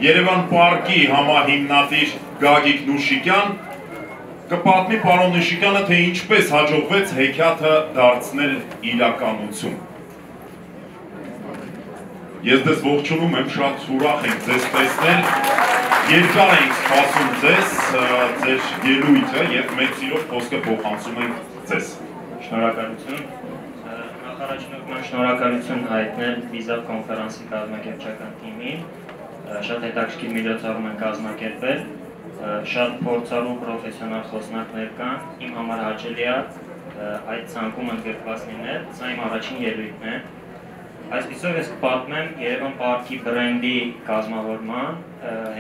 Երևան պարկի համահիմնադիր Գագիկ Նուշիկյան կպատմի պարոն Նուշիկյանը, թե ինչպես հաջողվեց հեքիաթը դարձնել իրականություն։ Ես դες ողջունում եմ, շատ ուրախ ենք ձեզ տեսնել, երկար ենք սպասում ձեզ, ձեր ելույթը և մեծ սիրով խոսքը փոխանցում ենք ձեզ։ Շնորհակալություն։ Նախարարություն շնորհակալություն հայտնել վիզա կոնֆերանսի կազմակերպչական թիմին, շատ հետաքրքիր միջոցառում են կազմակերպել, շատ փորձառու պրոֆեսիոնալ խոսնակներ կան, իմ համար հաճելի է այդ ցանկում ընդգրկված լինել, սա իմ առաջին ելույթն է։ Այսպիսով ես կպատմեմ Երևան պարկի բրենդի կազմավորման,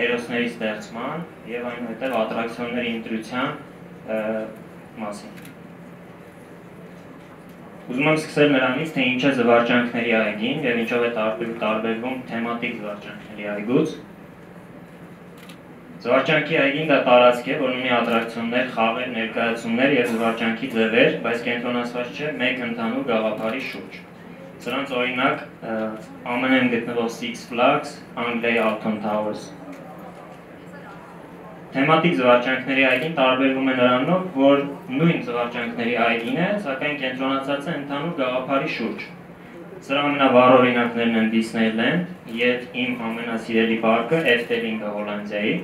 հերոսների ստեղծման և այնուհետև ատրակցիոնների ընտրության մասին։ Ուզում եմ սկսել նրանից, թե ինչ է զվարճանքների այգին և ինչով է տարբերվում թեմատիկ զվարճանքների այգուց։ Զվարճանքի այգին դա տարածք է, որն ունի ատրակցիոններ, խաղեր, ներկայացումներ և զվարճանքի ձևեր, բայց կենտրոնացված չէ մեկ ընդհանուր գաղափարի շուրջ։ Սրանց օրինակ ԱՄՆ-ում գտնվող Six Flags, Անգլիայի Alton Towers։ Թեմատիկ զվարճանքների այգին տարբերվում է նրանով, որ նույն զվարճանքների այգին է, սակայն կենտրոնացած է ընդհանուր գաղափարի շուրջ։ Սրա ամենավառ օրինակներն են Disneyland և իմ ամենասիրելի պարկը Efteling-ը Հոլանդիայի։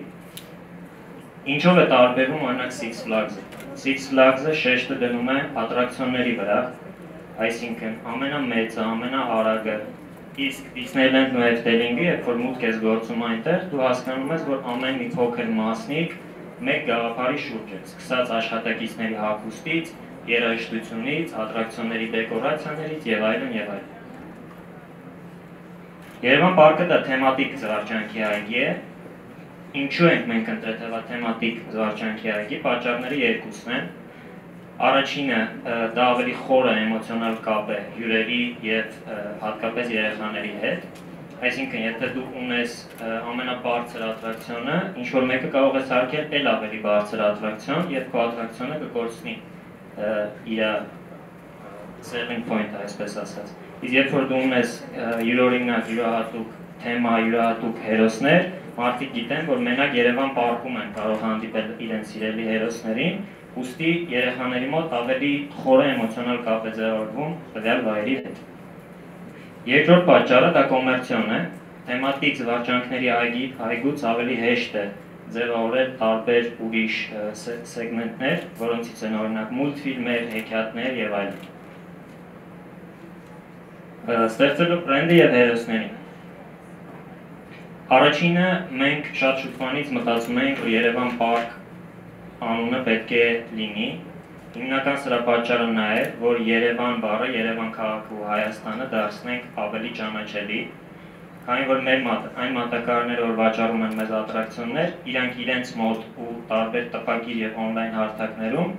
Ինչով է տարբերվում օրինակ Six Flags-ը։ Six Flags-ը շեշտը դնում է ատրակցիոնների վրա, այսինքն ամենամեծը, ամենաարագը, իսկ Disneyland-ն ու Efteling-ը, երբ որ մուտք ես գործում այնտեղ, դու հասկանում ես, որ ամեն մի փոքր մասնիկ մեկ գաղափարի շուրջ է, սկսած աշխատակիցների հագուստից, երաժշտությունից, ատրակցիոնների դեկորացիաներից և այլն և այլն։ Երևան պարկը դա թեմատիկ զվարճանքի այգի է։ Ինչու ենք մենք ընտրել թեմատիկ զվարճանքի այգի, պատճառները երկուսն են։ Առաջինը դա ավելի խորը էմոցիոնալ կապ է հյուրերի և հատկապես երեխաների հետ։ Այսինքն, եթե դու ունես ամենաբարձր ատրակցիոնը, ինչ-որ մեկը կարող է սարքել էլ ավելի բարձր ատրակցիոն և քո ատրակցիոնը կկորցնի իր selling point-ը, այսպես ասած։ Իսկ երբ որ դու ունես յուրօրինակ, յուրահատուկ թեմա, յուրահատուկ հերոսներ, մարդիկ գիտեն, որ մենակ Երևան պարկում են կարող հանդիպել իրենց սիրելի հերոսներին, ուստի երեխաների մոտ ավելի խորը էմոցիոնալ կապ է ձևավորվում տվյալ վայրի հետ։ Երկրորդ պատճառը դա կոմերցիոն է, թեմատիկ զվարճանքների այգուց ավելի հեշտ է ձևավորել տարբեր ուրիշ սեգմենտներ, որոնցից են օրինակ մուլտֆիլմեր, հեքիաթներ և այլն։ Ստեղծելու բրենդը և հերոսներին։ Առաջինը մենք շատ շուտվանից մտածում էինք, որ Երևան պարկ անունը պետք է լինի։ Հիմնական սրա պատճառը նա է, որ Երևան բառը, Երևան քաղաքը ու Հայաստանը դարձնենք ավելի ճանաչելի, քանի որ մեր այն մատակարարները, որ վաճառում են մեզ ատրակցիոններ, իրանք իրենց մոտ ու տարբեր տպագիր և օնլայն հարթակներում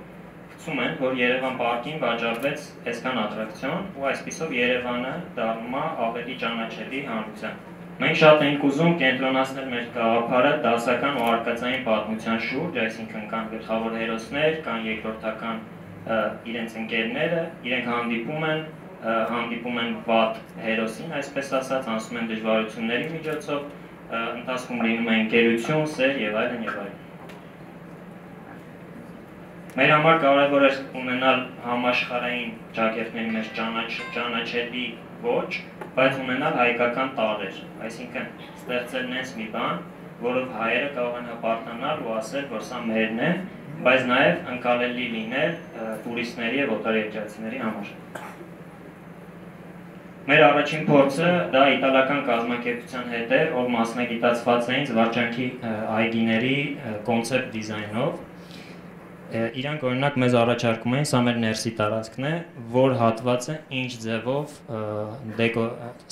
գցում են, որ Երևան պարկին վաճառվեց այսքան ատրակցիոն ու այսպիսով Երևանը դառնում է ավելի ճանաչելի հանրության։ Մենք շատ ենք ուզում կենտրոնացնել մեր գաղափարը դասական ու արկածային պատմության շուրջ, այսինքն կան գլխավոր հերոսներ, կան երկրորդական իրենց ընկերները, իրենք հանդիպում են վատ հերոսին, այսպես ասած, անցնում են դժվարությունների միջոցով, ընթացքում լինում է ընկերություն, սեր և այլն և այլն։ Մեր համար կարևոր է ունենալ համաշխարհային ճակերտների մեջ ճանաչելի ոճ, բայց ունենալ հայկական տաղեր, այսինքն ստեղծել նենց մի բան, որով հայերը կարող են հպարտանալ ու ասել, որ սա մերն է, բայց նաև ընկալելի լինել տուրիստների և օտարերկրացիների համար։ Մեր առաջին փորձը դա իտալական կազմակերպության հետ էր, որ մասնագիտացված էին զվարճանքի այգիների կոնցեպտ դիզայնով։ Իրանք օրինակ մեզ առաջարկում էին, սա մեր ներսի տարածքն է, որ հատվածը ինչ ձևով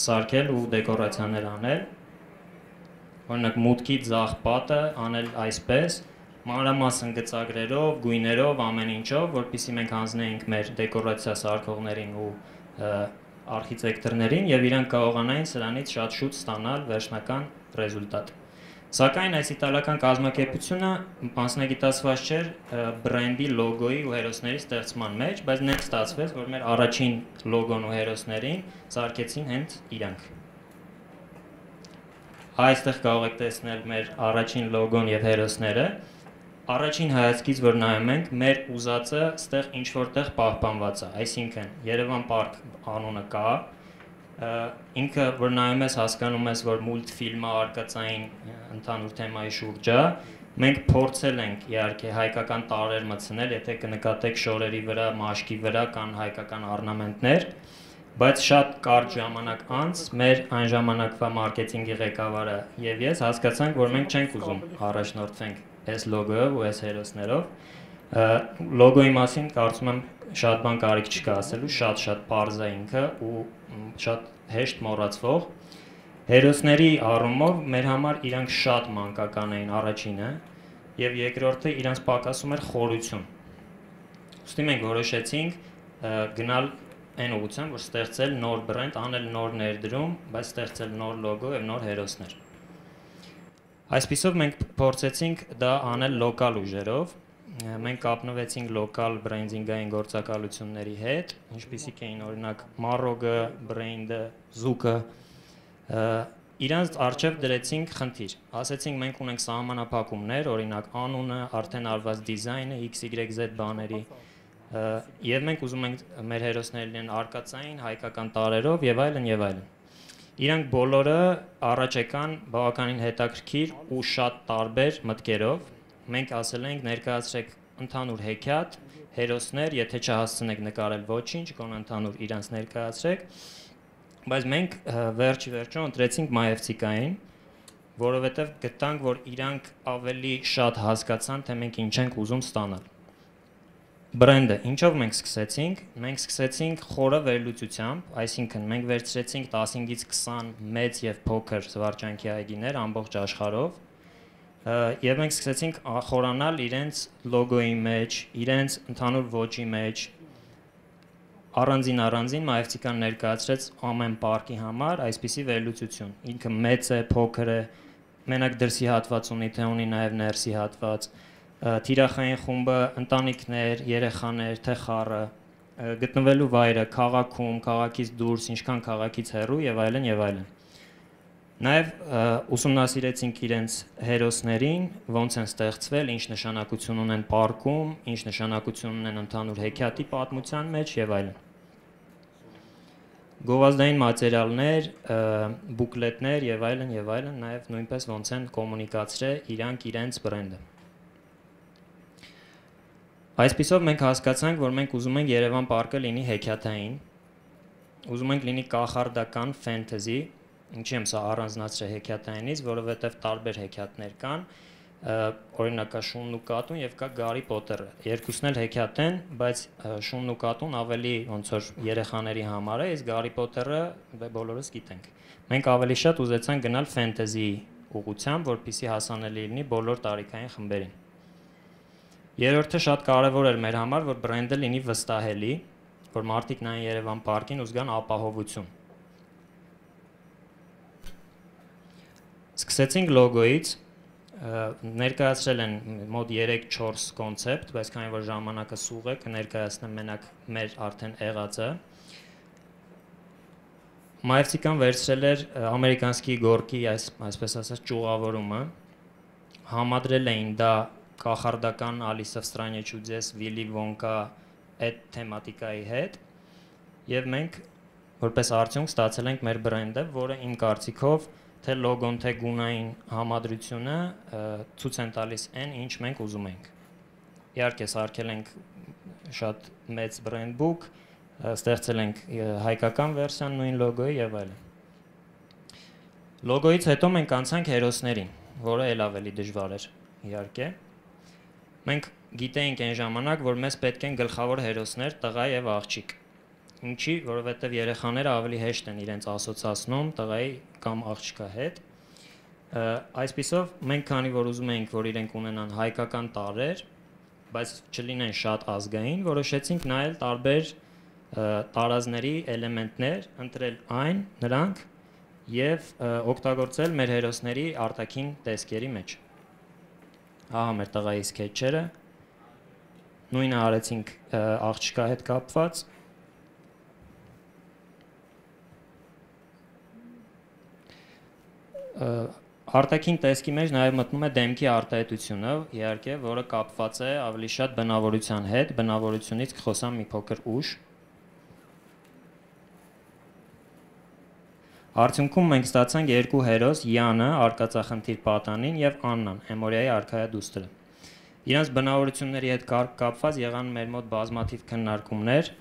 սարքել ու դեկորացիաներ անել։ Օրինակ մուտքի ձախ պատը անել այսպես, մանրամասն գծագրերով, գույներով, ամեն ինչով, որպեսզի մենք հանձնեինք մեր դեկորացիա սարքողներին ու արխիտեկտորներին և իրանք կարողանային սրանից շատ շուտ ստանալ վերջնական ռեզուլտատ։ Սակայն այս իտալական կազմակերպությունը մասնագիտացված չէր բրենդի լոգոյի ու հերոսների ստեղծման մեջ, բայց նենց ստացվեց, որ մեր առաջին լոգոն ու հերոսներին սարքեցին հենց իրանք։ այստեղ կարող եք տեսնել մեր առաջին լոգոն եւ հերոսները։ Առաջին հայացքից որ նայում ենք, մեր ուզածը այստեղ ինչ որտեղ պահպանված է, այսինքն Երևան Պարկ անունը կա, ինքը որ նայում ես հասկանում ես, որ մուլտֆիլմը արկածային ընդհանուր թեմայի շուրջ է, մենք փորձել ենք իհարկե հայկական տարրեր մտցնել, եթե կնկատեք շորերի վրա, մաշկի վրա կան հայկական օրնամենտներ, բայց շատ կարճ ժամանակ անց մեր այն ժամանակվա մարքեթինգի ղեկավարը եւ ես հասկացանք, որ մենք չենք ուզում առաջնորդվենք այս լոգոյով ու այս հերոսներով։ Լոգոյի մասին կարծում եմ շատ բան կարիք չկա ասելու, շատ պարզ է ինքը ու շատ հեշտ մոռացվող։ Հերոսների առումով մեր համար իրանք շատ մանկական էին առաջինը եւ երկրորդը իրանք պակասում էր խորություն։ Ուստի մենք որոշեցինք գնալ այն ուղղությամբ, որ ստեղծել նոր բրենդ, անել նոր ներդրում, բայց ստեղծել նոր լոգո եւ նոր հերոսներ։ Այսպիսով մենք փորձեցինք դա անել լոկալ ուժերով։ Մենք կապնվեցինք լոկալ բրենդինգային գործակալությունների հետ, ինչպիսիք էին օրինակ Marrow-ը, Brand-ը, Zouk-ը, իրանց առջև դրեցինք խնդիր։ Ասեցինք մենք ունենք սահմանափակումներ, օրինակ անունը, արդեն արված դիզայնը, XYZ բաների, եւ մենք ուզում ենք մեր հերոսներն լինեն արկածային, հայկական տարրերով եւ այլն եւ այլն։ Իրանք բոլորը առաջ եկան բավականին հետաքրքիր ու շատ տարբեր մտքերով։ Մենք ասել ենք ներկայացրեք ընդհանուր հեքիաթ, հերոսներ, եթե չհասցնեք նկարել ոչինչ, կոն ընդհանուր իրանց ներկայացրեք, բայց մենք վերջիվերջո ընտրեցինք մայևցիկային, որովհետև գտանք, որ իրանք ավելի շատ հասկացան, թե մենք ինչ ենք ուզում ստանալ։ Բրենդը, ինչով մենք սկսեցինք, մենք սկսեցինք խորը վերլուծությամբ, այսինքն մենք վերցրեցինք 15-ից 20 մեծ եւ փոքր զվարճանքի այգիներ ամբողջ աշխարհով, եւ մենք սկսեցինք խորանալ իրենց լոգոյի մեջ, իրենց ընդհանուր ոճի մեջ, առանձին մայևցիկան ներկայացրեց ամեն պարկի համար այսպիսի վերլուծություն, ինքը մեծ է, փոքր է, մենակ դրսի հատված ունի, թե ունի նաեւ ներսի հատված, թիրախային խումբը, ընտանիքներ, երեխաներ, թե խառը, գտնվելու վայրը, քաղաքում, քաղաքից դուրս, ինչքան քաղաքից հեռու եւ այլն եւ այլն։ Նաեւ ուսումնասիրեցինք իրենց հերոսներին, ոնց են ստեղծվել, ինչ նշանակություն ունեն պարկում, ինչ նշանակություն ունեն ընդհանուր հեքիաթի պատմության մեջ եւ այլն։ Գովազդային մատերիալներ, բուկլետներ եւ այլն, նաեւ նույնպես ոնց են կոմունիկացրել իրանք իրենց բրենդը։ Այսպիսով մենք հասկացանք, որ մենք ուզում ենք Երևան պարկը լինի հեքիաթային, ուզում ենք լինի կախարդական ֆենթեզի, ինչի եմ սա առանձնացրել հեքիաթայինից, որովհետև տարբեր հեքիաթներ կան, օրինակ կա Շունն ու կատուն եւ կա Գարի Պոտերը։ Երկուսն էլ հեքիաթ են, բայց Շունն ու կատուն ավելի ոնց որ երեխաների համար է, իսկ Գարի Պոտերը բոլորս գիտենք։ Մենք ավելի շատ ուզեցանք գնալ ֆենթեզի ուղղությամբ, որպեսզի հասանելի լինի բոլոր տարիքային խմբերին։ Երրորդը շատ կարևոր էր մեր համար, որ բրենդը լինի վստահելի, որ մարդիկ նայեն Երևան պարկին ու զգան ապահովություն։ Սկսեցինք լոգոից, ներկայացրել են մոտ 3-4 կոնցեպտ, բայց քանի որ ժամանակը սուղ է, կներկայացնեմ մենակ մեր արդեն եղածը։ Մայևցիկան վերցրել էր ամերիկանսկի գորկի, այսպես ասած, ճյուղավորումը, համադրել էին դա կախարդական Ալիսա в стране чудес, Վիլի Վոնկա այդ թեմատիկայի հետ եւ մենք որպես արդյունք ստացել ենք մեր բրենդը, որը իմ կարծիքով թե լոգոն, թե գունային համադրությունը ցույց են տալիս այն, ինչ մենք ուզում ենք։ Իհարկե սարքել ենք շատ մեծ բրենդ բուք, ստեղծել ենք հայկական վերսիան նույն լոգոյի եւ այլն։ Լոգոյից հետո մենք անցանք հերոսներին, որը ել ավելի դժվար էր, իհարկե։ Մենք գիտեինք այն ժամանակ, որ մեզ պետք են գլխավոր հերոսներ, տղա եւ աղջիկ։ Ինչի, որովհետեւ երեխաները ավելի հեշտ են իրենց ասոցացնում տղայի կամ աղջկա հետ։ Այսպիսով մենք քանի որ ուզում էինք, որ իրենք ունենան հայկական տարրեր, բայց չլինեն շատ ազգային, որոշեցինք նայել տարբեր տարազների էլեմենտներ, ընտրել նրանք եւ օգտագործել մեր հերոսների արտաքին տեսքերի մեջ։ Ահա մեր տղայի սկեչերը, նույնը արեցինք աղջկա հետ կապված, Արտաքին տեսքի մեջ նաև մտնում է դեմքի արտահայտությունը, իհարկե, որը կապված է ավելի շատ բնավորության հետ, բնավորությունից կխոսամ մի փոքր ուշ։ Արդյունքում մենք ստացանք երկու հերոս՝ Յանը, արկածախնդիր պատանին, եւ Աննան, Էմորիայի արքայադուստրը։ Իրանց բնավորությունների հետ կապված եղան մեր մոտ բազմաթիվ քննարկումներ,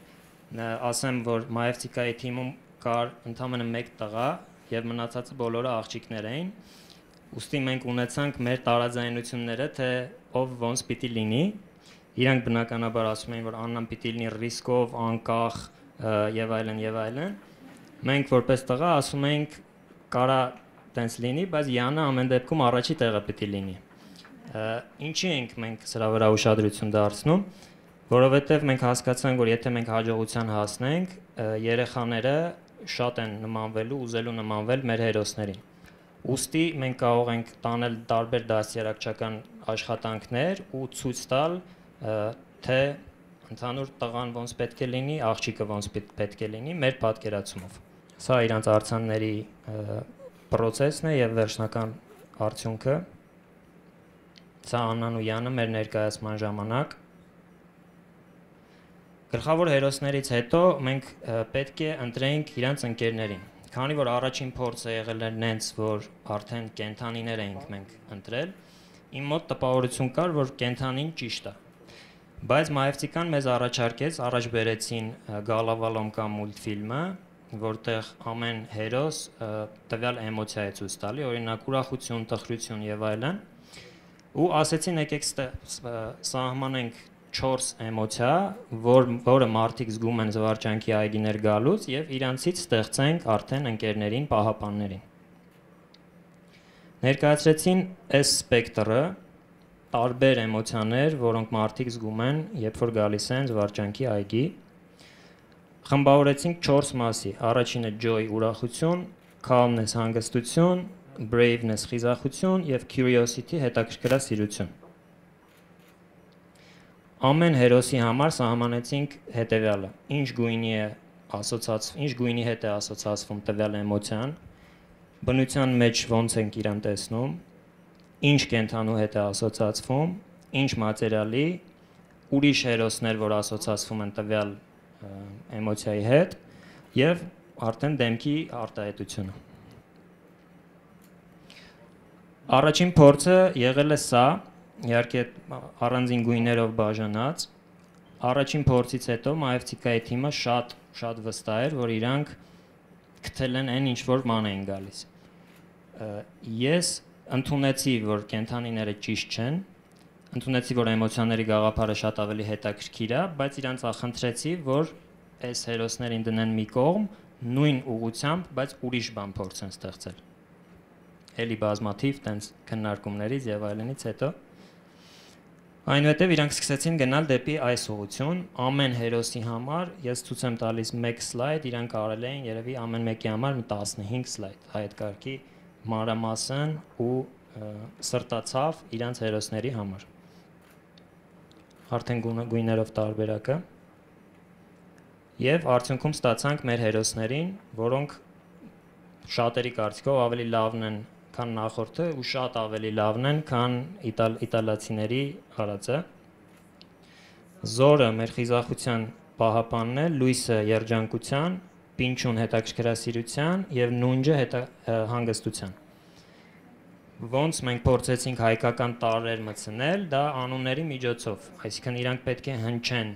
ասեմ, որ Մայևցիկայի թիմում կար ընդամենը 1 տղա եւ մնացածը բոլորը աղջիկներ էին։ Ուստի մենք ունեցանք մեր տարաձայնությունները, թե ով ոնց պիտի լինի։ Իրանք բնականաբար ասում էին, որ Աննան պիտի լինի ռիսկով, անկախ եւ այլն եւ այլն։ Մենք որպես տղա ասում ենք կարա տենց լինի, բայց Յանը ամեն դեպքում առաջի տեղը պիտի լինի։ Ինչի ենք մենք սրա վրա ուշադրություն դարձնում, որովհետեւ մենք հասկացանք, որ եթե մենք հաջողության հասնենք, երեխաները շատ են նմանվելու, ուզելու նմանվել մեր հերոսներին։ Ուստի մենք կարող ենք տանել տարբեր դաստիարակչական աշխատանքներ ու ցույց տալ, թե ընդհանուր տղան ոնց պետք է լինի, աղջիկը ոնց պետք է լինի մեր պատկերացումով։ Սա իրանց արձանների process-ն է եւ վերջնական արդյունքը։ Սա Աննան ու Յանը մեր ներկայացման ժամանակ։ Գլխավոր հերոսներից հետո մենք պետք է ընտրենք իրանց ընկերներին։ Քանի որ առաջին փորձը եղել էր նենց, որ արդեն կենթանիներ էինք մենք ընտրել, իմ մոտ տպավորություն կար, որ կենթանին ճիշտ է։ Բայց Մայևցիկան մեզ առաջարկեց, առաջ բերեցին Գալավալոմկա մուլտֆիլմը, որտեղ ամեն հերոս տվյալ էմոցիա է ցույց տալի, օրինակ ուրախություն, տխրություն եւ այլն, ու ասեցին եկեք սահմանենք 4 էմոցիա, որը մարդիկ զգում են զվարճանքի այգիներ գալուց եւ իրանցից ստեղծենք արդեն ընկերներին, պահապաններին։ Ներկայացրեցին այս սպեկտրը, տարբեր էմոցիաներ, որոնք մարդիկ զգում են, երբ որ գալիս են զվարճանքի այգի։ Խմբավորեցինք 4 մասի։ Առաջինը joy, ուրախություն, calmness, հանգստություն, braveness, խիզախություն եւ curiosity, հետաքրքրասիրություն։ Ամեն հերոսի համար սահմանեցինք հետևյալը. ինչ գույնի հետ է ասոցացվում տվյալ էմոցիան, բնության մեջ ոնց ենք իրան տեսնում, ինչ կենթանու հետ է ասոցացվում, ինչ մատերիալի, ուրիշ հերոսներ, որ ասոցացվում են տվյալ էմոցիայի հետ եւ արդեն դեմքի արտահայտությունը։ Առաջին փորձը եղել է սա, իհարկե առանձին գույներով բաժանած։ Առաջին փորձից հետո Մայևցիկայի թիմը շատ վստահ էր, որ իրանք գտել են այն ինչ որ ման էին գալիս։ Ես ընդունեցի, որ կենթանիները ճիշտ չեն, ընդունեցի, որ էմոցիաների գաղափարը շատ ավելի հետաքրքիր է, բայց իրանց ախնդրեցի, որ այս հերոսներին դնեն մի կողմ, նույն ուղղությամբ, բայց ուրիշ բան փորձեն ստեղծել։ Էլի բազմաթիվ տենց քննարկումներից եւ այլնից հետո այնուհետև իրանք սկսեցին գնալ դեպի այս ուղղություն, ամեն հերոսի համար ես ցույց եմ տալիս 1 սլայդ, իրանք արել էին երևի ամեն մեկի համար մի 15 սլայդ, այդ կարգի մանրամասն ու սրտացավ իրանց հերոսների համար։ Արդեն գույներով տարբերակը։ Եվ արդյունքում ստացանք մեր հերոսներին, որոնք շատերի կարծիքով ավելի լավն են քան նախորդը ու շատ ավելի լավն են, քան իտալացիների արածը։ Զորը մեր խիզախության պահապանն է, լույսը երջանկության, պինչուն հետաքրքրասիրության եւ նունջը հանգստության։ Ոնց մենք փորձեցինք հայկական տարրեր մտցնել, դա անունների միջոցով, այսինքն իրանք պետք է հնչեն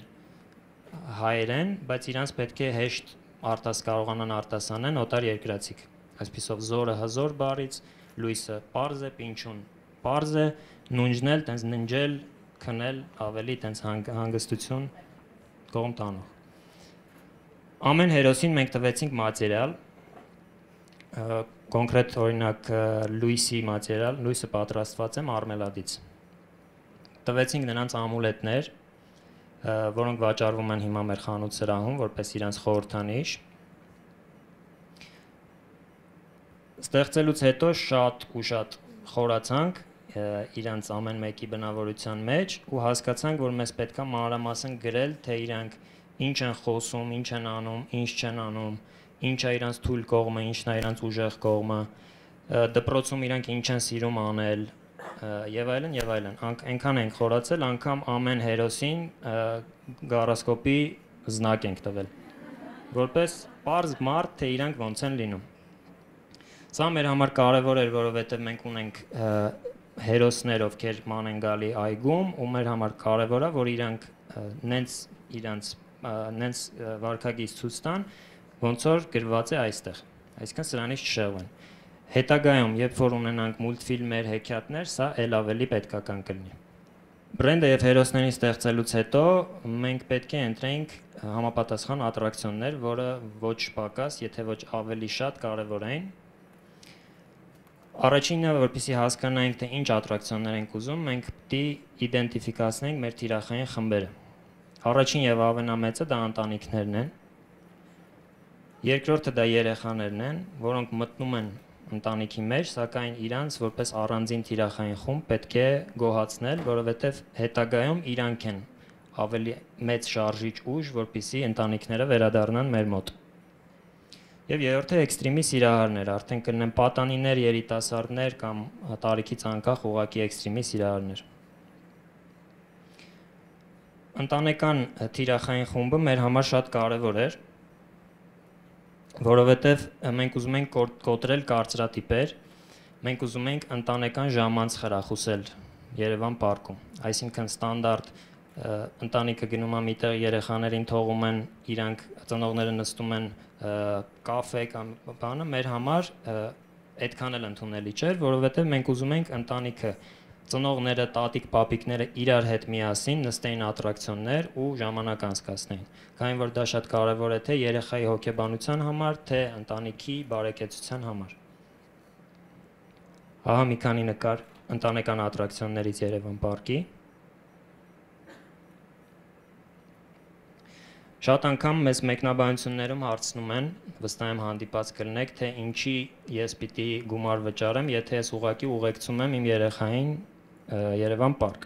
հայերեն, բայց իրանք պետք է հեշտ կարողանան արտասանեն օտար երկրացիք։ Այսպիսով զորը հզոր բառից, լույսը պարզ է, պինչուն պարզ է, նունջն էլ տենց ննջել, քնել ավելի տենց հանգստություն կողմ տանող։ Ամեն հերոսին մենք տվեցինք մատերիալ, կոնկրետ օրինակ լույսի մատերիալ, լույսը պատրաստված է մարմելադից։ Տվեցինք նրանց ամուլետներ, որոնք վաճառվում են հիմա մեր խանութ սրահում, որպես իրանց խորհրդանիշ։ Ստեղծելուց հետո շատ խորացանք իրանց ամեն մեկի բնավորության մեջ ու հասկացանք, որ մեզ պետքա մանրամասն գրել, թե իրանք ինչ են խոսում, ինչ են անում, ինչ չեն անում, ինչ է իրանց թույլ կողմը, ինչն է իրանց ուժեղ կողմը, դպրոցում իրանք ինչ են սիրում անել եւ այլն եւ այլն, այնքան ենք խորացել, անգամ ամեն հերոսին գարոսկոպի զնակ ենք տվել, որպես պարզ մարդ, թե իրանք ոնց են լինում։ Սա մեր համար կարևոր էր, որովհետեւ մենք ունենք հերոսներ, ովքեր ման են գալի այգում, ու մեր համար կարևոր է, որ իրանք նենց վարքագիծ ցույց տան, ոնց որ գրված է այստեղ, այսինքն սրանից չշեղվեն։ Հետագայում, երբ որ ունենանք մուլտֆիլմեր, հեքիաթներ, սա ել ավելի պետքական կլինի։ Բրենդը եւ հերոսներին ստեղծելուց հետո մենք պետք է ընտրենք համապատասխան ատրակցիոններ, որը ոչ պակաս, եթե ոչ ավելի շատ կարևոր են։ Առաջինը, որպեսզի հասկանանք, թե ինչ ատրակցիոններ ենք ուզում, մենք պետք է իդենտիֆիկացնենք մեր թիրախային խմբերը։ Առաջին եւ ամենամեծը դա ընտանիքներն են։ Երկրորդը դա երեխաներն են, որոնք մտնում են ընտանիքի մեջ, սակայն իրանց որպես առանձին թիրախային խումբ պետք է գոհացնել, որովհետև հետագայում իրանք են ավելի մեծ շարժիչ ուժ, որպեսզի ընտանիքները վերադառնան մեր մոտ։ Եվ երրորդը էքստրեմի սիրահարներ, արդեն կլինեն պատանիներ, երիտասարդներ կամ տարիքից անկախ ուղղակի էքստրեմի սիրահարներ։ Ընտանեկան թիրախային խումբը մեր համար շատ կարևոր էր, որովհետև մենք ուզում ենք կոտրել կարծրատիպեր, մենք ուզում ենք ընտանեկան ժամանց խրախուսել Երևան պարկում, այսինքն ստանդարտ ընտանիքը գնում է միտեղ, երեխաներին թողում են, իրանք ծնողները նստում են կաֆե կամ բանը, մեր համար այդքան էլ ընդունելի չէր, որովհետև մենք ուզում ենք ընտանիքը ծնողները, տատիկ, պապիկները իրար հետ միասին նստեին ատրակցիոններ ու ժամանակ անցկացնեին։ Քանի որ դա շատ կարևոր է թե երեխայի հոգեբանության համար, թե ընտանիքի բարեկեցության համար։ Ահա մի քանի նկար ընտանեկան ատրակցիոններից Երևան պարկի։ Շատ անգամ մեզ մեկնաբանություններում հարցնում են, վստահ եմ հանդիպած կլինեք, թե ինչի ես պիտի գումար վճարեմ, եթե ես ուղղակի ուղեկցում եմ իմ երեխային Երևան պարկ։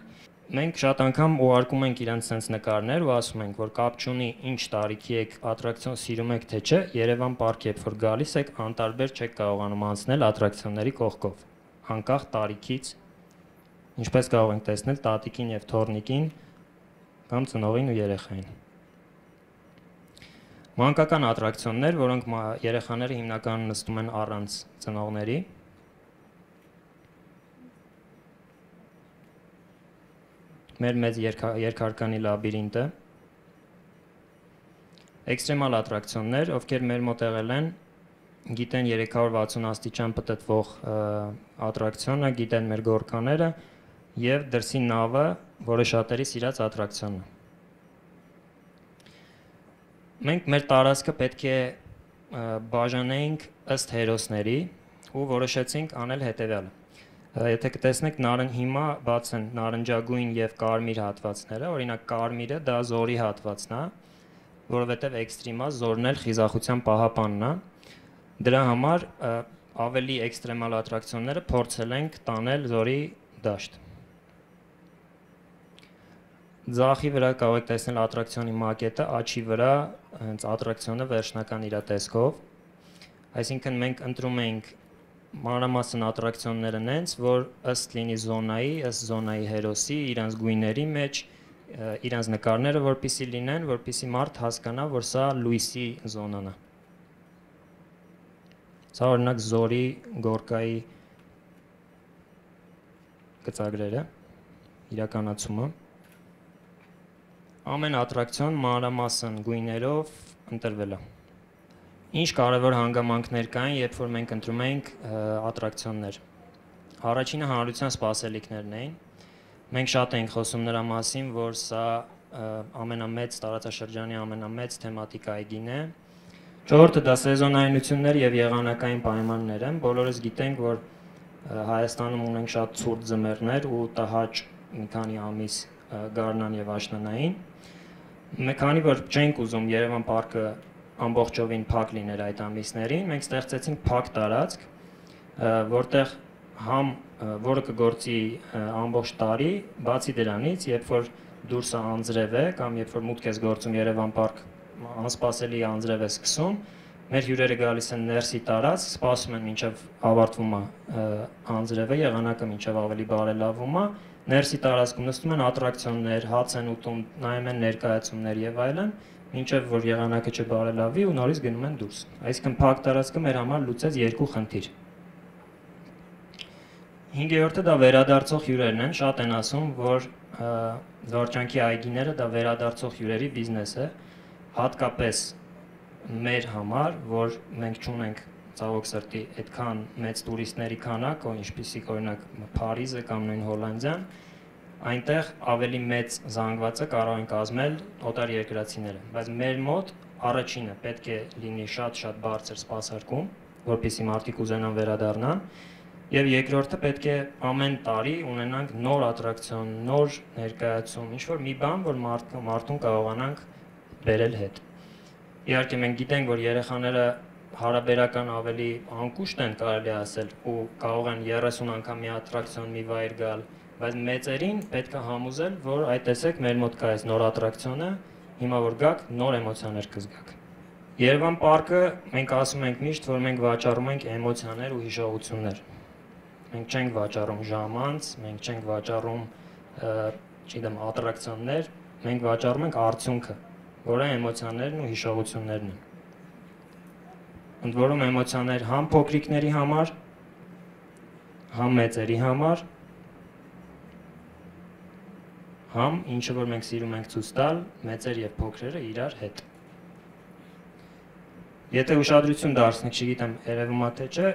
Մենք շատ անգամ ուղարկում ենք իրանց sense նկարներ ու ասում ենք, որ կապ չունի ինչ տարիքի եք, ատրակցիոն սիրում եք թե չէ, Երևան պարկ երբ որ գալիս եք, անտարբեր չեք կարողանում անցնել ատրակցիոնների կողքով, անկախ տարիքից, ինչպես կարող ենք տեսնել տատիկին եւ թոռնիկին կամ ծնողին ու երեխային։ Մանկական ատրակցիոններ, որոնք երեխաները հիմնականում նստում են առանց ծնողների։ Մեր մեծ երկհարկանի լաբիրինտը, էքստրեմալ ատրակցիոններ, ովքեր մեր մոտ եղել են, գիտեն 360 աստիճան պտտվող ատրակցիոնը, գիտեն մեր գորկաները եւ դրսի նավը, որը շատերի սիրած ատրակցիոնն է։ Մենք մեր տարածքը պետք է բաժանենք ըստ հերոսների ու որոշեցինք անել հետեւյալը։ Եթե կտեսնեք հիմա բաց են նարնջագույն եւ կարմիր հատվածները, օրինակ կարմիրը դա զորի հատվածն է, որովհետեւ էքստրեմա զորն էլ խիզախության պահապանն է։ Դրա համար ավելի էքստրեմալ ատրակցիոնները փորձել ենք տանել զորի դաշտ։ Ձախի վրա կարող եք տեսնել ատրակցիոնի մակետը, աչի վրա հենց ատրակցիոնը վերջնական իր տեսքով։ Այսինքն մենք ընտրում ենք մանրամասն ատրակցիոնները նենց, որ ըստ լինի զոնայի, ըստ զոնայի հերոսի, իրանց գույների մեջ, իրանց նկարները որպեսզի լինեն, որպեսզի մարդ հասկանա, որ սա լույսի զոնան է։ Սա օրինակ զորի գորկայի գծագրերը, իրականացումը։ Ամեն ատրակցիոն մանրամասն գույներով ընտրվել է։ Ինչ կարևոր հանգամանքներ կային, երբ որ մենք ընտրում էինք ատրակցիոններ։ Առաջինը հանրության սպասելիքներն էին։ Մենք շատ էինք խոսում նրա մասին, որ սա ամենամեծ տարածաշրջանի ամենամեծ թեմատիկ այգին է։ Չորրորդը դա սեզոնայնություններ եւ եղանակային պայմաններ են։ Բոլորս գիտենք, որ Հայաստանում ունենք շատ ցուրտ ձմեռներ ու տհաճ մի քանի ամիս գարնան եւ աշնանային։ Քանի որ չենք ուզում Երևան պարկը ամբողջովին փակ լիներ այդ ամիսներին, մենք ստեղծեցինք փակ տարածք, որտեղ որը կգործի ամբողջ տարի, բացի դրանից, երբ որ դուրսը անձրև է կամ երբ որ մուտք ես գործում Երևան պարկ, անսպասելի անձրև է սկսում, մեր հյուրերը գալիս են ներսի տարած, սպասում են մինչև ավարտվում է անձրևը, եղանակը մինչև ավելի բարելավում է, ներսի տարածքում նստում են ատրակցիոններ, հաց են ուտում, նայում են ներկայացումներ եւ այլն, մինչև որ եղանակը չբարելավի ու նորից գնում են դուրս։ Այսինքն փակ տարածքը մեր համար լուծեց երկու խնդիր։ 5-րդը դա վերադարձող հյուրերն են, շատ են ասում, որ զվարճանքի այգիները դա վերադարձող հյուրերի բիզնես է, հատկապես մեր համար, որ մենք չունենք ցավոք սրտի այդքան մեծ տուրիստների քանակ, ինչպիսիք օրինակ Փարիզը կամ նույն Հոլանդիան, այնտեղ ավելի մեծ զանգվածը կարող են կազմել օտար երկրացիները, բայց մեր մոտ առաջինը պետք է լինի շատ բարձր սպասարկում, որպեսզի մարդիկ ուզենան վերադառնան, եւ երկրորդը պետք է ամեն տարի ունենանք նոր ատրակցիոն, նոր ներկայացում, ինչ-որ մի բան, որ մարդուն կարողանանք բերել հետ։ Իհարկե մենք գիտենք, որ երեխաները հարաբերական ավելի անկուշտ են, կարելի ասել, ու կարող են 30 անգամ մի ատրակցիոն, մի վայր գալ, բայց մեծերին պետք է համոզել, որ այ տեսեք, մեր մոտ կա այս նոր ատրակցիոնը, հիմա որ գաք, նոր էմոցիաներ կզգաք։ Երևան պարկը մենք ասում ենք միշտ, որ մենք վաճառում ենք էմոցիաներ ու հիշողություններ։ Մենք չենք վաճառում ժամանց, մենք չենք վաճառում, չգիտեմ, ատրակցիոններ, մենք վաճառում ենք արդյունքը, որը էմոցիաներն ու հիշողություններն են։ Ընդ որում էմոցիաներ համ փոքրիկների համար, համ մեծերի համար, համ ինչը որ մենք սիրում ենք ցույց տալ, մեծեր եւ փոքրերը իրար հետ։ Եթե ուշադրություն դարձնեք, չգիտեմ, երևում է թե չէ,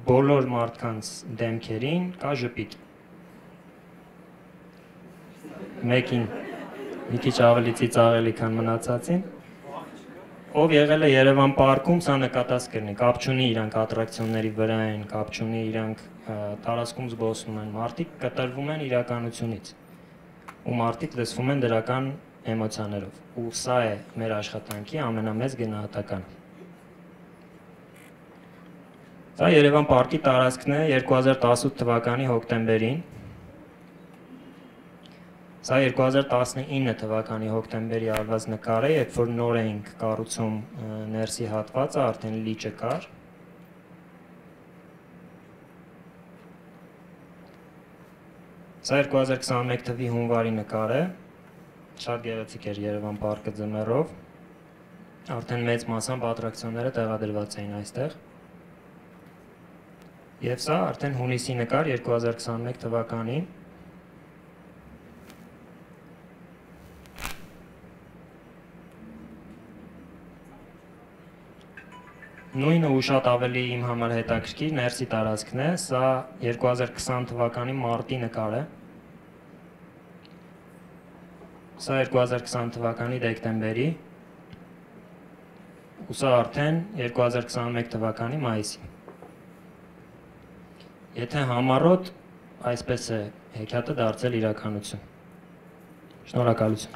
բոլոր մարդկանց դեմքերին կա ժպիտ։ Մեկին մի քիչ ավելի ծիծաղելի, քան մնացածին։ Ով եղել է Երևան պարկում, սա նկատած կլինի, կապ չունի իրանք ատրակցիոնների վրա են, կապ չունի իրանք տարածքում զբոսնում են, մարդիկ կտրվում են իրականությունից ու մարդիկ լսվում են դրական էմոցիաներով, ու սա է մեր աշխատանքի ամենամեծ գնահատականը։ Սա Երևան պարկի տարածքն է 2018 թվականի հոկտեմբերին։ Սա 2019 թվականի հոկտեմբերի արված նկար է, երբ որ նոր էինք կառուցում ներսի հատվածը, արդեն լիճը կար։ Սա 2021 թվականի հունվարի նկար է, շատ գեղեցիկ էր Երևան պարկը ձմեռով, արդեն մեծ մասամբ ատրակցիոնները տեղադրված էին այստեղ։ Եվ սա արդեն հունիսի նկար 2021 թվականի։ Նույնը ու շատ ավելի իմ համար հետաքրքիր ներսի տարածքն է, սա 2020 թվականի մարտի նկար է։ Սա 2020 թվականի դեկտեմբերի, ու սա արդեն 2021 թվականի մայիսի։ Եթե համառոտ, այսպես է հեքիաթը դարձել իրականություն։ Շնորհակալություն։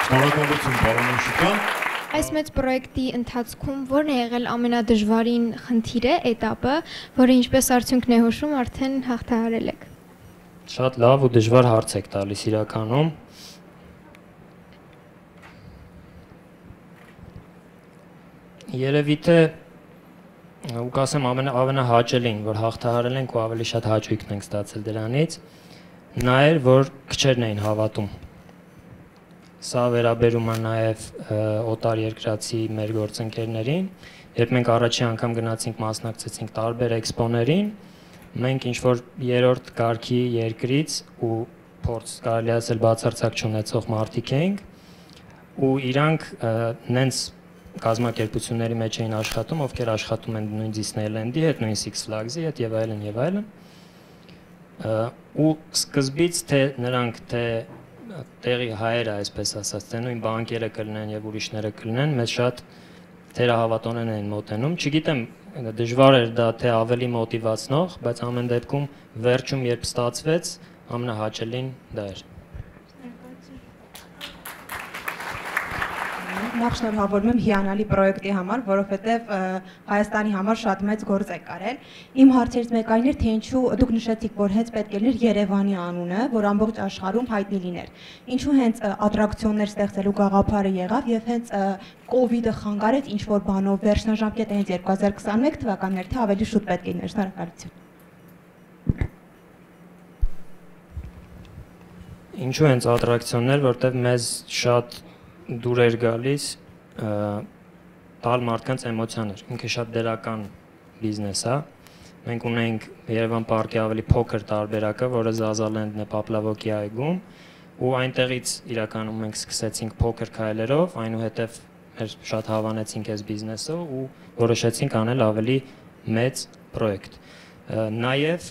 Շնորհակալություն, պարոն Միշիկյան։ Այս մեծ պրոյեկտի ընթացքում ո՞րն է եղել ամենադժվարին խնդիրը, էտապը, որը ինչպես արդյունքն է հուշում, արդեն հաղթահարել եք։ Շատ լավ ու դժվար հարց եք տալիս իրականում։ Երևի թե ու կասեմ ամենահաճելին, որ հաղթահարել ենք ու ավելի շատ հաճույքն ենք ստացել դրանից, նա էր, որ քչերն էին հավատում։ Սա վերաբերում է նաև օտար երկրացի մեր գործընկերներին, երբ մենք առաջի անգամ գնացինք մասնակցեցինք տարբեր էքսպոներին, մենք ինչ-որ երրորդ կարգի երկրից ու փորձ կարելի ասել բացարձակ չունեցող մարդիկ էինք, ու իրանք նենց կազմակերպությունների մեջ էին աշխատում, ովքեր աշխատում են նույն Disneyland-ի հետ, նույն Six Flags-ի հետ եւ այլն եւ այլն։ Ու սկզբից թե նրանք թե տեղի հայերը, այսպես ասած, թե նույն բանկերը կլինեն եւ ուրիշները կլինեն, մեզ շատ թերահավատորեն են մոտենում։ Չգիտեմ, դժվար էր դա թե ավելի մոտիվացնող, բայց ամեն դեպքում վերջում երբ ստացվեց, ամենահաճելին դա էր։ նախ շնորհավորում եմ հիանալի պրոյեկտի համար, որովհետև Հայաստանի համար շատ մեծ գործ եք արել։ Իմ հարցերից մեկը այն էր, թե ինչու դուք նշեցիք, որ հենց պետք է լիներ Երևանի անունը, որ ամբողջ աշխարհում հայտնի լիներ։ Ինչու հենց ատրակցիոններ ստեղծելու գաղափարը եղավ եւ հենց COVID-ը խանգարեց ինչ որ բանով վերջնաժամկետը հենց 2021 թվականներ, թե ավելի շուտ պետք է լիներ։ Շնորհակալություն։ Ինչու հենց ատրակցիոններ, որտեղ մեզ շատ դուր էր գալիս տալ մարդկանց էմոցիաներ։ Ինքը շատ դերական բիզնես է։ Մենք ունենք Երևան պարկի ավելի փոքր տարբերակը, որը Zaza-Land-ն է Պապլավոկի այգում, ու այնտեղից իրականում մենք սկսեցինք փոքր քայլերով, այնուհետև մեր շատ հավանեցինք այս բիզնեսը ու որոշեցինք անել ավելի մեծ պրոյեկտ։ Նաև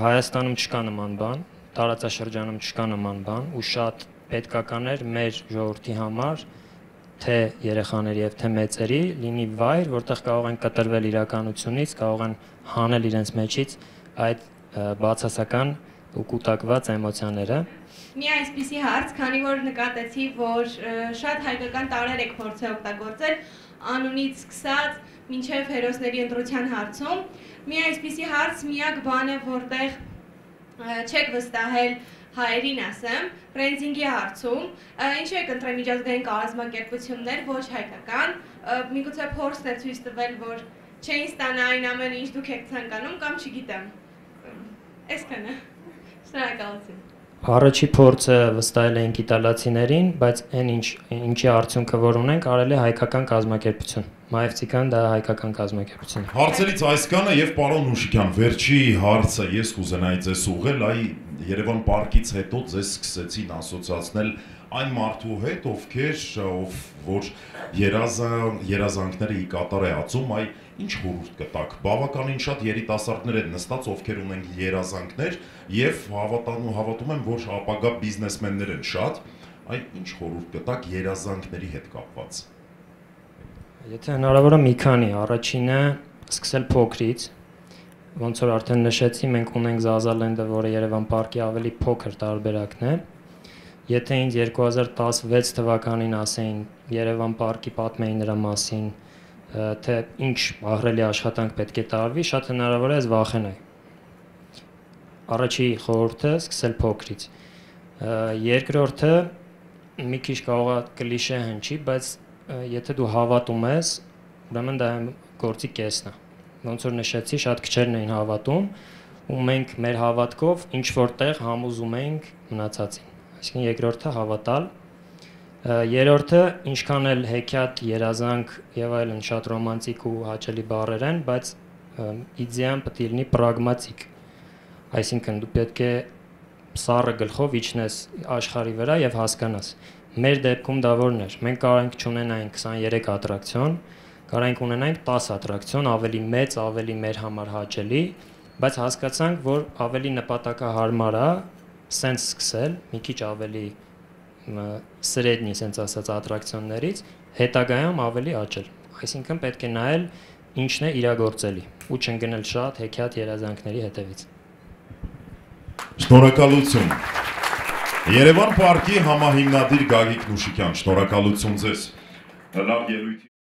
Հայաստանում չկա նման բան, տարածաշրջանում չկա նման բան ու շատ պետքական էր մեր ժողովրդի համար, թե երեխաների եւ թե մեծերի լինի վայր, որտեղ կարող են կտրվել իրականությունից, կարող են հանել իրենց մեջից այդ բացասական ու կուտակված էմոցիաները։ Մի այսպիսի հարց, քանի որ նկատեցի, որ շատ հայկական տարրեր եք փորձել օգտագործել անունից սկսած մինչև հերոսների ընտրության հարցում, մի այսպիսի հարց միակ բան է, որտեղ չեք վստահել հայերին ասեմ, բրենդինգի հարցում, ինչու եք ընտրել միջազգային կազմակերպություններ, ոչ հայկական, միգուցե փորձն է ցույց տվել, որ չէին ստանա այն ամենը, ինչ դուք եք ցանկանում, կամ չգիտեմ։ Այսքանը։ Շնորհակալություն։ Առաջի փորձը վստահել էինք իտալացիներին, բայց այն ինչի արդյունքը որ ունենք, արել է հայկական կազմակերպություն։ Մայրցիկան դա հայկական կազմակերպություն է։ Հարցերից այսքանը եւ պարոն Նուշիկյան, վերջի հարցը ես կուզենայի ձեզ ուղղել, այ Երևան պարկից հետո ձեզ սկսեցին ասոցացնել այն մարդու հետ, ով որ երազանքները ի կատար է ածում, այ ինչ խորհուրդ կտաք։ Բավականին շատ երիտասարդներ են նստած, ովքեր ունեն երազանքներ եւ հավատում եմ, որ ապագա բիզնեսմեններ են շատ, այ ինչ խորհուրդ կտաք երազանքների հետ կապված։ Եթե հնարավոր է մի քանի, առաջինը սկսել փոքրից, ոնց որ արդեն նշեցի, մենք ունենք Zaza-Land-ը, որը Երևան պարկի ավելի փոքր տարբերակն է։ Եթե ինձ 2016 թվականին ասեին Երևան պարկի պատմեին նրա մասին, թե ինչ ահռելի աշխատանք պետք է տարվի, շատ հնարավոր է ես վախենայի։ Առաջի խորհուրդը սկսել փոքրից։ Երկրորդը մի քիչ կարող է կլիշե հնչի, բայց եթե դու հավատում ես, ուրեմն դա գործի կեսն է։ Ոնց որ նշեցի, շատ քչերն էին հավատում, ու մենք մեր հավատքով ինչ որտեղ համոզում էինք մնացածին։ Այսինքն երկրորդը հավատալ, երրորդը ինչքան էլ հեքիաթ, երազանք եւ այլն շատ ռոմանտիկ ու հաճելի բառեր են, բայց իդեան պետք է լինի պրագմատիկ։ Այսինքն դու պետք է սառը գլխով իջնես աշխարհի վրա եւ հասկանաս։ Մեր դեպքում դա որն էր։ Մենք կարող ենք չունենայինք 23 ատրակցիոն, կարող ենք ունենայինք 10 ատրակցիոն, ավելի մեծ, ավելի մեր համար հաճելի, բայց հասկացանք, որ ավելի նպատակահարմար է սենց սկսել, մի քիչ ավելի սրեդնի, սենց ասած, ատրակցիոններից, հետագայում ավելի աճել։ Այսինքն պետք է նայել ինչն է իրագործելի ու չընկնել շատ հեքիաթ երազանքների հետևից։ Շնորհակալություն։ Երևան պարկի համահիմնադիր Գագիկ Նուշիկյան, շնորհակալություն ձեզ։ Լավ ելույթ։